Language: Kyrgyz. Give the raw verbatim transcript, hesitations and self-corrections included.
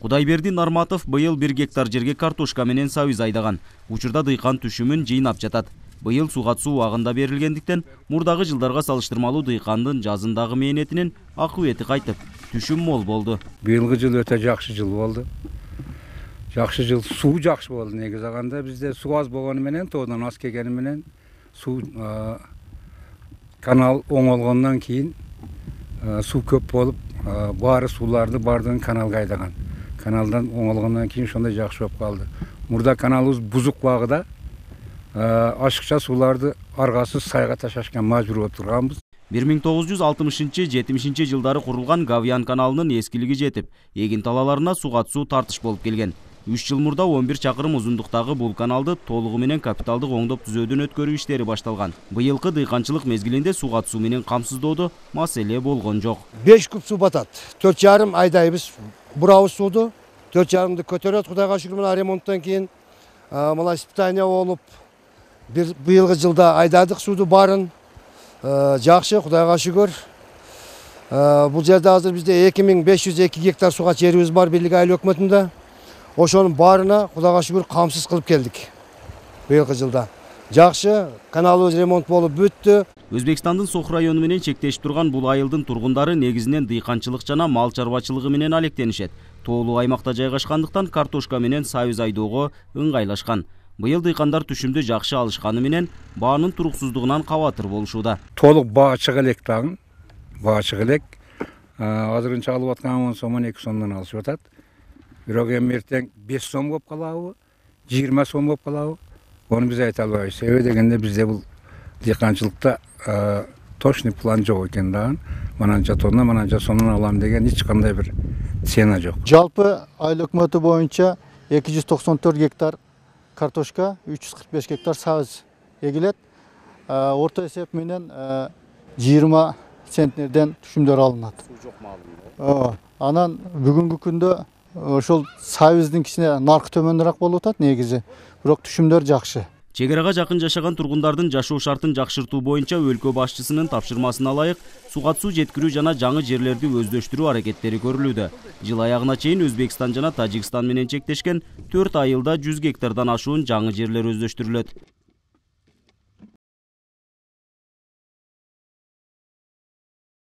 Кудайберди Нарматов быйыл бир гектар жерге картошка менен сабиз айдаган. Учурда дыйкан түшүмүн жыйнап жатат. Быйыл суга суу убагында берилгендиктен мурдагы жылдарга салыштырмалуу дыйкандын жазындагы мээнетинин акыбети кайтып, түшүм мол болду. Быйылгы жыл өтө жакшы жыл болду. Жакшы жыл, суу жакшы болду. Негизи алганда бизде суу аз болгону менен, тоодан аз келгени менен суу канал оңолгондон кийин суу көп болуп, баары сууларды бардыгын каналга айдаган. Каналдан оңолгондон кийин ошондой жакшы болуп калды. Мурда каналыбыз бузук багыда ашыкча сууларды аргасыз сайга ташашка мажбур болуп турганбыз. бир миң тогуз жүз алтымышынчы жетимишинчи жылдары курулган Гавьян каналынын эскилиги жетип, эгин талаларына суга суу тартыш болуп келген. үч жыл мурда он бир чакырым узундуктагы бул каналды толугу менен капиталдык оңдоп түзөөдөн өткөрүү иштери башталган. Быйылкы дыйканчылык мезгилинде суга суу менен камсыздоодо маселе болгон жок. беш куб суу батат. төрт жарым айдайбыз. Бурабыз сууду төрт жарымды көтөрөт. Кудайга шүгүр, мына ремонттон кийин мына испытание болуп, бир быйылкы жылда айдадык сууду баарын. Жакшы, Кудайга шүгүр. Бул жерде азыр бизде эки миң беш жүз эки гектар суга жерибиз бар бийлик айыл өкмөтүндө. Ошонун баарына Кудайга шүгүр камсыз кылып келдик. Быйылкы жылда жакшы, каналыбыз ремонт болуп бүттү. Өзбекстандын Сох району менен чектешип турган бул айылдын тургундары негизинен дыйканчылык жана мал чарбачылыгы менен алектенишет. Тоолуу аймакта жайгашкандыктан картошка менен сабиз айдоого ыңгайлашкан. Быйыл дыйкандар түшүмдү жакшы алышканы менен баанын туруксуздугунан кабатыр болушууда. Толук баа чыга элек дагы. Баа чыга элек. Азырынча алып аткан он сом он эки сомдон алышып атат. Бирок эми эртең беш сом болуп калабы, жыйырма сом болуп калабы? Оны биз айта албайбыз. Себеби дегенде бизде бул дыйканчылыкта точный план жок экен дагы. Мананча тонна, мананча сомдон алам деген эч кандай бир цена жок. Жалпы айыл өкмөтү боюнча эки жүз токсон төрт гектар картошка, үч жүз кырк беш гектар сабиз эгилет. Орто эсеп менен жыйырма центнерден түшүмдөр алынат. Суу жок маалында. Анан бүгүнкү күндө ошол сабиздин кичине наркы төмөнүрөөк болуп атат негизи, бирок түшүмдөр жакшы. Чек арага жакын жашаган тургундардын жашоо шартын жакшыртуу боюнча өлкө башчысынын тапшырмасына ылайык суга суу жеткирүү жана жаңы жерлерди өздөштүрүү аракеттери көрүлүүдө. Жыл аягына чейин Өзбекстан жана Тажикстан менен чектешкен төрт айылда жүз гектардан ашуун жаңы жерлер өздөштүрүлөт.